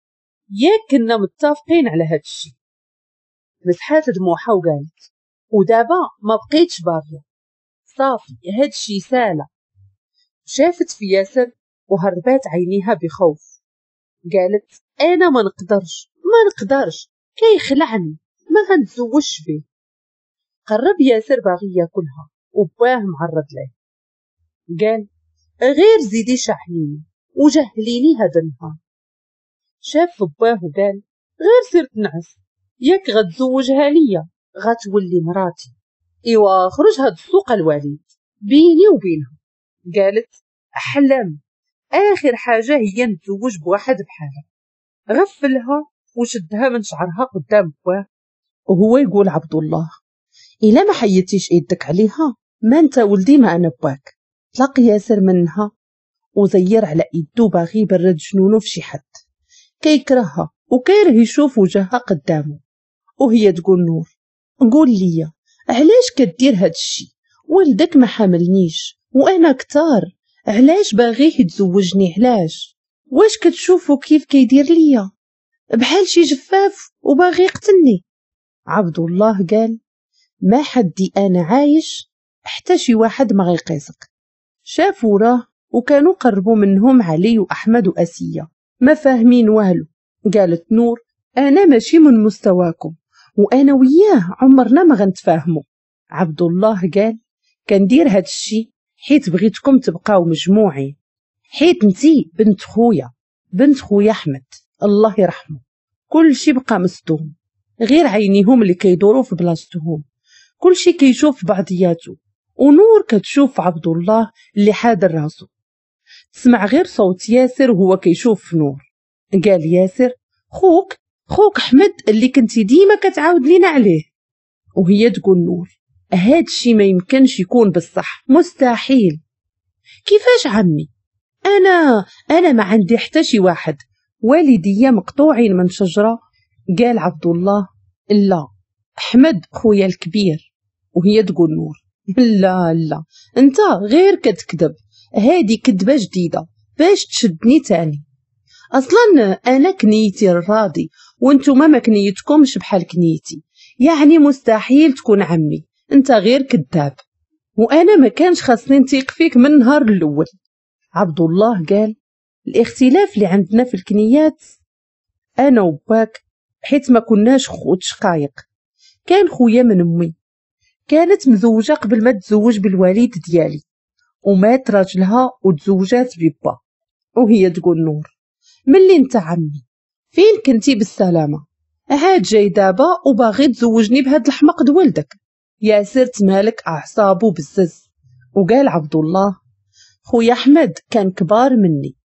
ياك كنا متفقين على هاد الشيء. مسحات دموعها وقالت ودابا ما بقيتش باغية، صافي هاد الشيء ساله. شافت في ياسر وهربات عينيها بخوف، قالت انا ما نقدرش ما نقدرش كيخلعني، ما غنتزوجش به. قرب ياسر باغي ياكلها وباه معرض له، قال غير زيدي شحنيني وجهليني هذا النهار. شاف باه وقال غير سير تنعس، ياك غتزوجها ليا غتولي مراتي، ايوا خرج هاد السوق الوالد بيني وبينها. قالت احلم، اخر حاجة هي نتزوج بواحد بحالها. غفلها وشدها من شعرها قدام باه وهو يقول عبد الله الا ما حيدتيش ايدك عليها ما انت ولدي ما انا باك. طلق ياسر منها وزير على ايدو باغي يبرد جنونو في شي حد كيكرهها وكيره يشوف وجهها قدامه. وهي تقول نور قول لي علاش كدير هاد الشي؟ ولدك ما حاملنيش وانا كتار، علاش باغية يتزوجني؟ علاش؟ واش كتشوفو كيف كيدير ليا بحال شي جفاف وباغي يقتلني؟ عبد الله قال ما حدي انا عايش حتى شي واحد ما غيقيسك. شافوا وراه وكانوا قربوا منهم علي واحمد واسيه ما فاهمين والو. قالت نور انا ماشي من مستواكم وانا وياه عمرنا ما غنتفاهموا. عبد الله قال كندير هاد الشي حيت بغيتكم تبقاو مجموعين، حيت انتي بنت خويا، بنت خويا احمد الله يرحمه. كل شي بقى مصدوم، غير عينيهم اللي كيدوروا في بلاصتهم، كل شي كيشوف بعضياته، ونور كتشوف عبد الله اللي حادر راسو. تسمع غير صوت ياسر وهو كيشوف في نور. قال ياسر خوك خوك احمد اللي كنتي ديما كتعاود لينا عليه. وهي تقول نور هاد الشي ما يمكنش يكون بالصح، مستحيل. كيفاش عمي؟ انا انا ما عندي حتى شي واحد، والديا مقطوعين من شجرة. قال عبد الله لا احمد خويا الكبير. وهي تقول نور لا لا انت غير كتكذب، هادي كذبه جديدة باش تشدني تاني. اصلا انا كنيتي الراضي وانتم ما كنيتكمش بحال كنيتي، يعني مستحيل تكون عمي، انت غير كذاب، وانا ما كانش خاصني نثيق فيك من النهار الاول. عبد الله قال الاختلاف اللي عندنا في الكنيات انا وباك حيت ما كناش خوت شقايق، كان خويا من امي، كانت مزوجه قبل ما تزوج بالوالد ديالي، ومات راجلها وتزوجات ببا. وهي تقول نور ملي انت عمي فين كنتي بالسلامة؟ عاد جاي دابا وباغي تزوجني بهاد الحمق د ولدك. ياسر تمالك اعصابو بزز وقال عبد الله خويا احمد كان كبار مني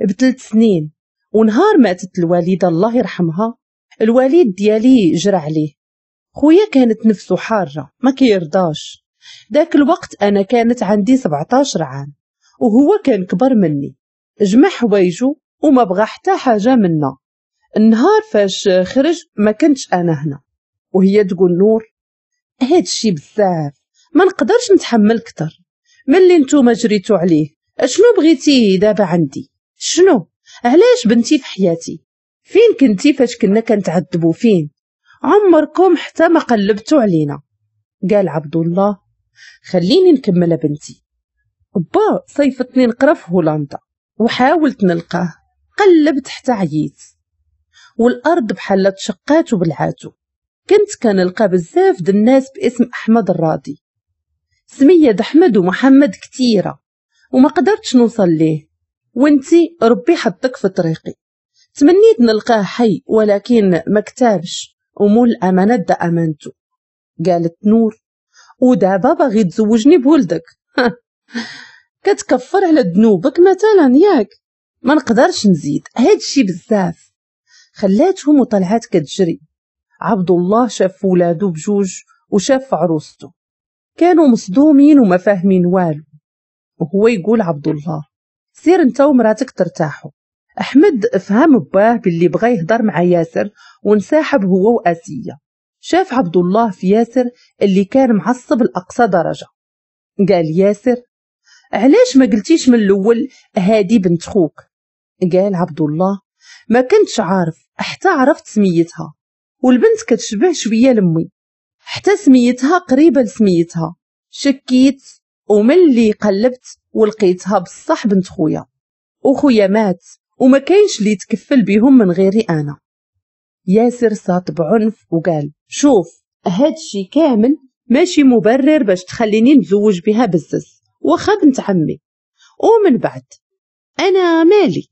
بثلاث سنين، ونهار ماتت الوالدة الله يرحمها الوالد ديالي جرى عليه. خويا كانت نفسه حارة ما كيرضاش. داك الوقت انا كانت عندي سبعطاش عام وهو كان كبر مني، جمع حوايجو وما بغى حتى حاجة منا. النهار فاش خرج ما كنتش انا هنا. وهي تقول نور هادشي بزاف ما نقدرش نتحمل كتر، ملي نتوما جريتو عليه اشنو بغيتي دابا عندي؟ شنو؟ علاش بنتي في حياتي؟ فين كنتي فاش كنا كنتعذبوا؟ فين؟ عمركم حتى ما قلبتو علينا. قال عبد الله خليني نكمل بنتي. با صيفتني نقرا في هولندا وحاولت نلقاه، قلبت حتى عييت، والارض بحال تشقات وبلعاتو. كنت كنلقى بزاف د الناس باسم احمد الراضي، سميه د احمد ومحمد كثيرة، وما قدرتش نوصل ليه، وانتي ربي حطك في طريقي. تمنيت نلقاه حي ولكن ما كتابش، ومول الامانة دا امانته. قالت نور ودابا باغي تزوجني بولدك؟ كتكفر على ذنوبك مثلا ياك؟ ما نقدرش نزيد هادشي بزاف. خلاتهم وطلعات كتجري. عبد الله شاف ولادو بجوج وشاف عروسته، كانوا مصدومين وما فاهمين والو. وهو يقول عبد الله سير انت ومراتك ترتاحوا. احمد فهم باه باللي بغى يهضر مع ياسر وانسحب هو واسيه. شاف عبد الله في ياسر اللي كان معصب لاقصى درجه. قال ياسر علاش ما قلتيش من الاول هادي بنت خوك؟ قال عبد الله ما كنتش عارف حتى عرفت سميتها، والبنت كتشبه شوية لامي، حتى سميتها قريبه لسميتها، شكيت وملي قلبت ولقيتها بصح بنت خويا، وخويا مات وما كاينش اللي يتكفل بهم من غيري انا. ياسر صات بعنف وقال شوف هادشي كامل ماشي مبرر باش تخليني نتزوج بها بزز، واخا بنت عمي، ومن بعد انا مالي.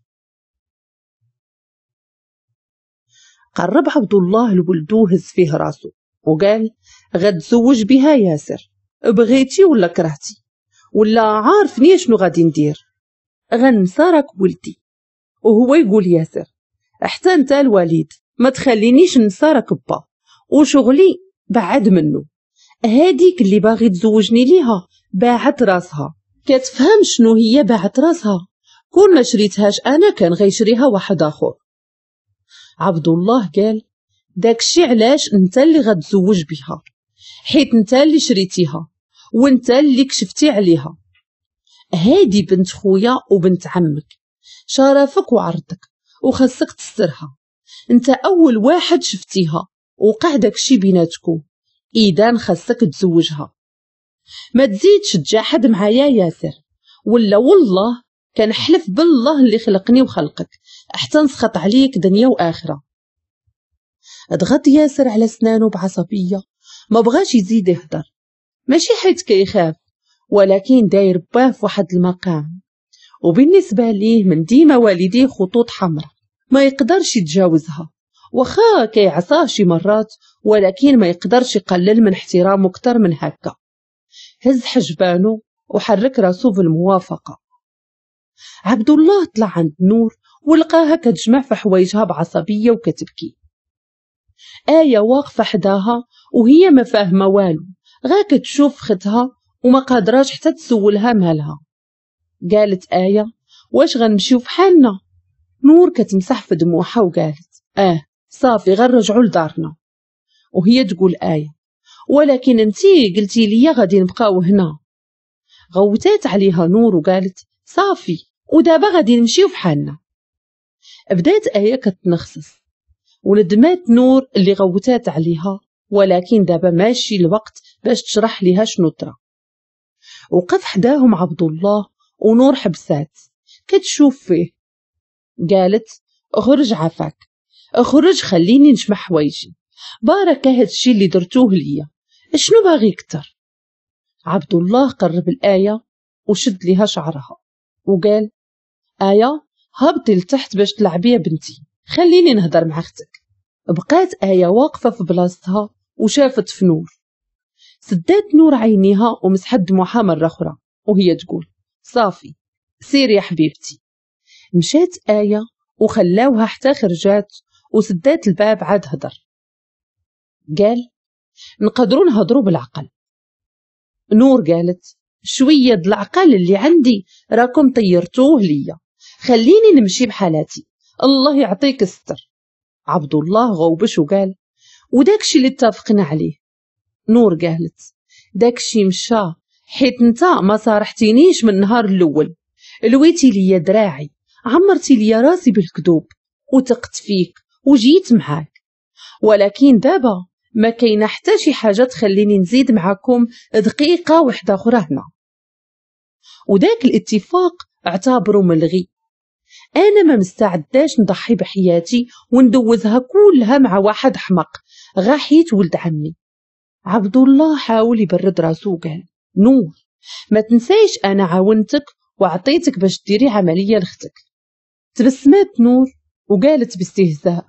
قرب عبد الله لولدو هز فيه راسو وقال غتزوج بها ياسر، بغيتي ولا كرهتي، ولا عارفني شنو غادي ندير، غنسى راك ولدي. وهو يقول ياسر حتى انت الوليد ما تخلينيش ننسى راك با، وشغلي بعد منه، هاديك اللي باغي تزوجني ليها باعت راسها، كتفهم شنو هي باعت راسها؟ كون ما شريتهاش انا كان غيشريها واحد اخر. عبد الله قال داكشي علاش انت اللي غتزوج بها، حيت انت اللي شريتيها وانت اللي كشفتي عليها، هادي بنت خويا وبنت عمك، شرفك وعرضك وخاصك تسترها، انت اول واحد شفتيها وقع داكشي بيناتكم، اذا خاصك تزوجها، ما تزيدش تجاحد معايا ياسر، ولا والله كنحلف بالله اللي خلقني وخلقك حتى نسخط عليك دنيا واخره. ضغط ياسر على سنانه بعصبيه، ما بغاش يزيد يهضر، ماشي حيت كيخاف، ولكن داير باه في واحد المقام، وبالنسبة ليه من ديما والديه خطوط حمراء ما يقدرش يتجاوزها، واخا كيعصاه شي مرات ولكن ما يقدرش يقلل من احترامه اكثر من هكا. هز حجبانه وحرك راسو بالموافقة. عبد الله طلع عند نور ولقاها كتجمع في حوايجها بعصبيه وكتبكي. آية واقفة حداها وهي ما فاهمه والو، غا كتشوف ختها وما قادراش حتى تسولها مالها. قالت آية واش غنمشيو في حالنا؟ نور كتمسح في دموعها وقالت اه صافي غنرجعوا لدارنا. وهي تقول آية ولكن انتي قلتي لي غادي نبقاو هنا. غوتات عليها نور وقالت صافي ودابا غادي نمشيو فحالنا. بدات آية كتنخصص وندمات نور اللي غوتات عليها، ولكن دابا ماشي الوقت باش تشرح ليها شنو طرا. وقف حداهم عبد الله ونور حبسات كتشوف فيه، قالت اخرج عفاك، اخرج خليني نجمع حوايجي، بارك هادشي اللي درتوه ليا، شنو باغي كتر؟ عبد الله قرب الآية وشد ليها شعرها وقال آية هبطي لتحت باش تلعبي يا بنتي، خليني نهضر مع اختك. بقات آية واقفة في بلاصتها وشافت في نور. سدات نور عينيها ومسحت دموعها مرة أخرى وهي تقول صافي سيري يا حبيبتي. مشات آية وخلاوها حتى خرجات وسدات الباب. عاد هدر قال نقدروا نهضروا بالعقل. نور قالت شوية د العقل اللي عندي راكم طيرتوه ليا، خليني نمشي بحالاتي، الله يعطيك الستر. عبد الله غوبش وقال وداكشي اللي اتفقنا عليه. نور قالت داكشي مشى حيت انت ما صارحتينيش من النهار الاول، لويتي ليا دراعي، عمرتي ليا راسي بالكذوب، وثقت فيك وجيت معاك، ولكن دابا ما كاينه حتى شي حاجة تخليني نزيد معاكم دقيقة واحدة اخرى هنا. وداك الاتفاق اعتبره ملغي، انا ما مستعداش نضحي بحياتي وندوزها كلها مع واحد حمق غا حيت ولد عمي. عبد الله حاول يبرد راسو وقال نور ما تنسايش انا عاونتك وعطيتك باش ديري عملية لاختك. تبسمات نور وقالت باستهزاء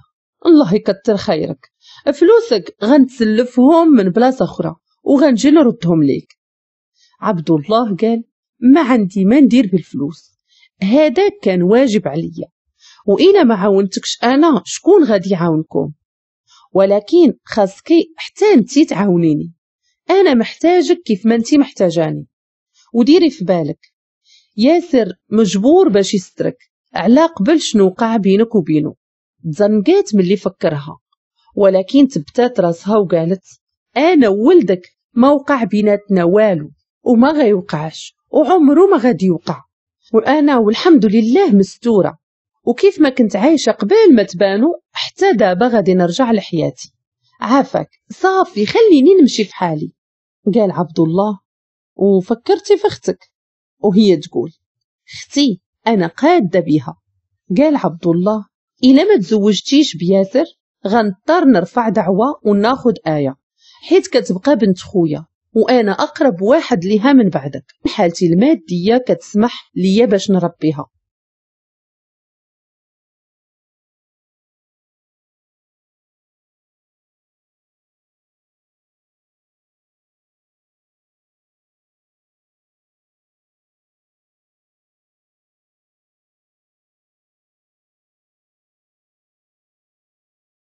الله يكتر خيرك، فلوسك غنتسلفهم من بلاصة اخرى وغنجي نردهم ليك. عبد الله قال ما عندي ما ندير بالفلوس، هذا كان واجب عليا، وإلا ما عاونتكش انا شكون غادي يعاونكم؟ ولكن خاصكي حتى انتي تعاونيني، انا محتاجك كيف ما انتي محتاجاني. وديري في بالك ياسر مجبور باش يسترك على قبل شنو وقع بينك وبينه. تزنقات ملي فكرها، ولكن تبتات راسها وقالت انا وولدك ما وقع بيناتنا والو وما غيوقعش وعمره ما غادي يوقع، وانا والحمد لله مستورة، وكيف ما كنت عايشه قبل ما تبانو حتى دابا غادي نرجع لحياتي، عافاك صافي خليني نمشي في حالي. قال عبد الله وفكرتي في اختك؟ وهي تقول اختي انا قاده بها. قال عبد الله الا ما تزوجتيش بياسر غنضطر نرفع دعوه وناخذ آية، حيت كتبقى بنت خويا وانا اقرب واحد ليها من بعدك، حالتي المادية كتسمح ليا باش نربيها.